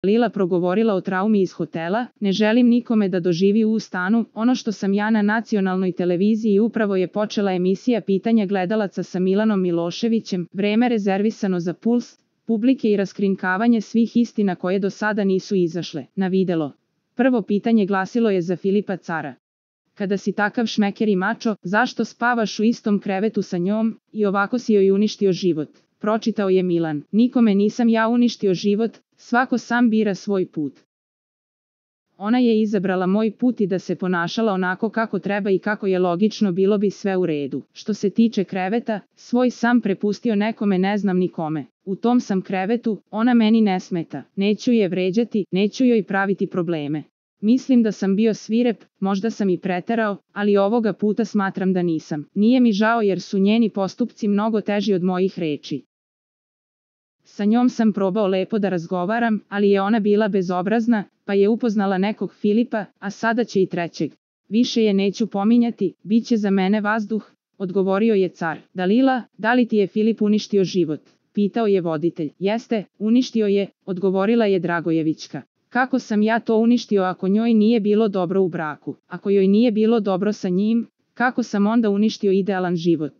Lila progovorila o traumi iz hotela, ne želim nikome da doživi u stanu, ono što sam ja na nacionalnoj televiziji upravo je počela emisija pitanja gledalaca sa Milanom Miloševićem, vreme rezervisano za puls publike i raskrinkavanje svih istina koje do sada nisu izašle na videlo. Prvo pitanje glasilo je za Filipa Cara. Kada si takav šmeker i mačo, zašto spavaš u istom krevetu sa njom, i ovako si joj uništio život? Pročitao je Milan. Nikome nisam ja uništio život, svako sam bira svoj put. Ona je izabrala moj put i da se ponašala onako kako treba i kako je logično, bilo bi sve u redu. Što se tiče kreveta, svoj sam prepustio nekome, ne znam nikome. U tom sam krevetu, ona meni ne smeta. Neću je vređati, neću joj praviti probleme. Mislim da sam bio svirep, možda sam i preterao, ali ovoga puta smatram da nisam. Nije mi žao jer su njeni postupci mnogo teži od mojih reči. Sa njom sam probao lepo da razgovaram, ali je ona bila bezobrazna, pa je upoznala nekog Filipa, a sada će i trećeg. Više je neću pominjati, bit će za mene vazduh, odgovorio je Car. Dalila, da li ti je Filip uništio život? Pitao je voditelj. Jeste, uništio je, odgovorila je Dragojevićka. Kako sam ja to uništio ako njoj nije bilo dobro u braku? Ako joj nije bilo dobro sa njim, kako sam onda uništio idealan život?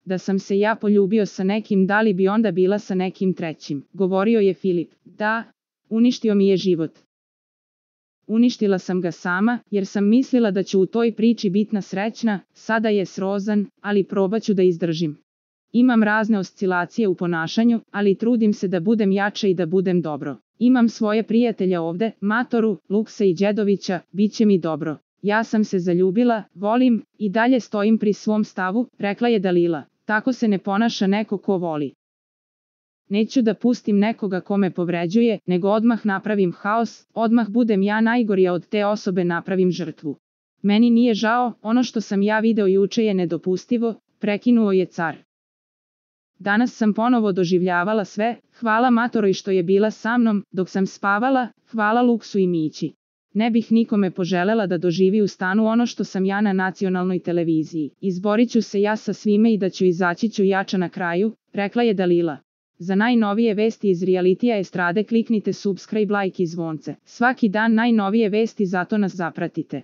Da sam se ja poljubio sa nekim, da li bi onda bila sa nekim trećim? Govorio je Filip. Da, uništio mi je život. Uništila sam ga sama, jer sam mislila da ću u toj priči biti srećna, sada je srozan, ali probaću da izdržim. Imam razne oscilacije u ponašanju, ali trudim se da budem jača i da budem dobro. Imam svoje prijatelja ovde, Matoru, Luksa i Đedovića, bit će mi dobro. Ja sam se zaljubila, volim, i dalje stojim pri svom stavu, rekla je Dalila. Tako se ne ponaša neko ko voli. Neću da pustim nekoga ko me povređuje, nego odmah napravim haos, odmah budem ja najgorija od te osobe, napravim žrtvu. Meni nije žao, ono što sam ja video juče je nedopustivo, prekinuo je Car. Danas sam ponovo doživljavala sve, hvala Matoroj što je bila sa mnom, dok sam spavala, hvala Luksu i Mići. Ne bih nikome poželela da doživi u stanu ono što sam ja na nacionalnoj televiziji. Izborit ću se ja sa svime i da ću izaći ću jača na kraju, rekla je Dalila. Za najnovije vesti iz realitija estrade kliknite subscribe, like i zvonce. Svaki dan najnovije vesti, zato nas zapratite.